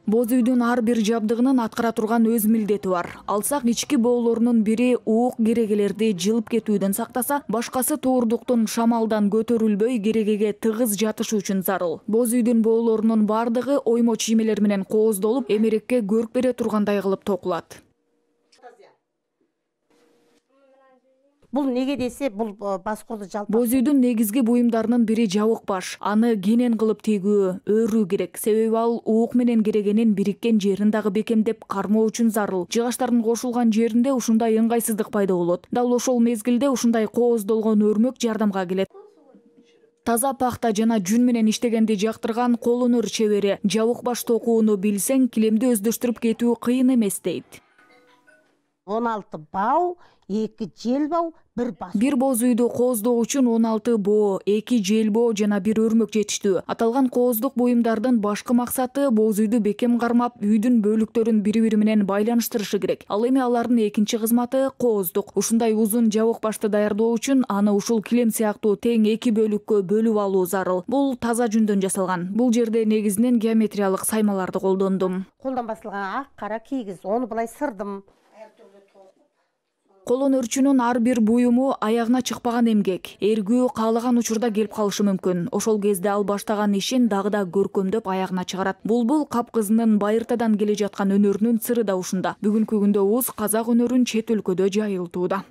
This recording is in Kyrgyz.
Боз үйдүн ар бир жабдыгынын аткара турган өз милдети бар. Алсак ички боолорунун бири уук керегелерди жылып кетүүдөн сактаса, башкасы туурундуктун шамалдан көтөрүлбөй керегеге тыгыз жатышы үчүн зарыл. Боз үйдүн боолорунун бардыгы оймо чиймелер менен кооздолуп, эмерекке көрк бере тургандай кылып токулат. Бул неге десе, бул баскурду жалпак. Боз үйдүн негизги буюмдарынын бири жабык баш. Аны кенен кылып тегүү, өрүү керек. Себеби ал уук менен керегенин бириккен жерин дагы бекемдеп кармоо үчүн зарыл. Жыгачтардын кошулган жеринде ушундай ыңгайсыздык пайда болот. Дал ошол мезгилде ушундай кооздолгон өрмөк жардамга келет. Таза пахта жана жүн менен иштегенди жактырган кол өнөр чебери жабык баш токууну билсең, килемди өздөштүрүп кетүү кыйын эмес дейт. 16 бау, 2 желбау, 1 бас. Бир боз үйдү кооздоо үчүн 16 боо, 2 желбоо жана 1 өрмөк жетиштүү. Аталган кооздук буюмдардын башкы максаты боз үйдү бекем кармап, үйдүн бөлүктөрүн бири-бири менен байланыштырышы керек. Ал эми алардын экинчи кызматы кооздук. Ушундай узун жабык башты даярдоо үчүн аны ушул килем сыяктуу тең 2 бөлүккө бөлүп алуу зарыл. Бул таза жүндөн жасалган. Бул жерде негизинен геометриялык саймаларды колдондум. Колдон басылган ак, кара кийгиз, ону былай сырдым. Кол өнөрчүнүн ар бир буюму аягына чыкпаган эмгек. Эргүү каалаган учурда келип калышы мүмкүн. Ошол кезде ал баштаган ишин дагы да көркөмдөп аягына чыгарат. Булбул кап кызынын байыртадан келе жаткан өнөрүнүн сыры да ушунда. Бүгүнкү күндө уз казак өнөрүн чет өлкөдө жайылтууда.